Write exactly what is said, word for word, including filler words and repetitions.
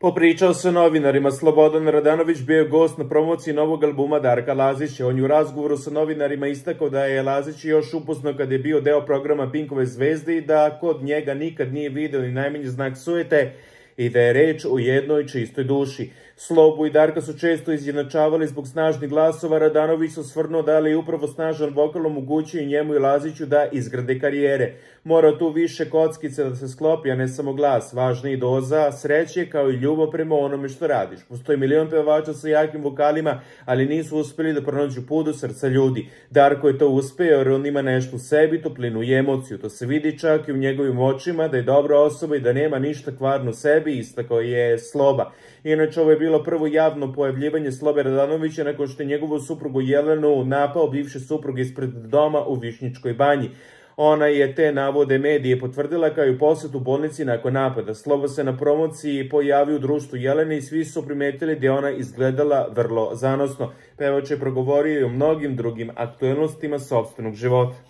Popričao sa novinarima. Slobodan Radanović bio je gost na promociji novog albuma Darka Lazića. On je u razgovoru sa novinarima istakao da je Lazić još upoznao kad je bio deo programa Pinkove zvezde i da kod njega nikad nije video ni najmanji znak sujete i da je reč o jednoj čistoj duši. Slobu i Darka su često izjednačavali zbog snažnih glasova. Radanović se osvrnuo da li je upravo snažan vokal omogućio i njemu i Laziću da izgrade karijere. Mora tu više kockice da se sklopi, a ne samo glas. Važna i doza sreće kao i ljubav prema onome što radiš. Postoji milion pevača sa jakim vokalima, ali nisu uspeli da pronađu put do srca ljudi. Darko je to uspeo jer on ima nešto u sebi, toplinu i emociju. To se vidi čak i u njegovim očima da je dobra osoba i da nema ništa kvarno u sebi, istakao je Sloba. Inače, ovo je bilo prvo javno pojavljivanje Slobe Radanovića nakon što je njegovu suprugu Jelenu napao bivši suprug ispred doma u Višnjičkoj banji. Ona je te navode medije potvrdila kao i posjet bolnici nakon napada. Sloba se na promociji pojavio u društvu Jelene i svi su primetili da je ona izgledala vrlo zanosno. Pevač je progovorio i o mnogim drugim aktuelnostima sopstvenog života.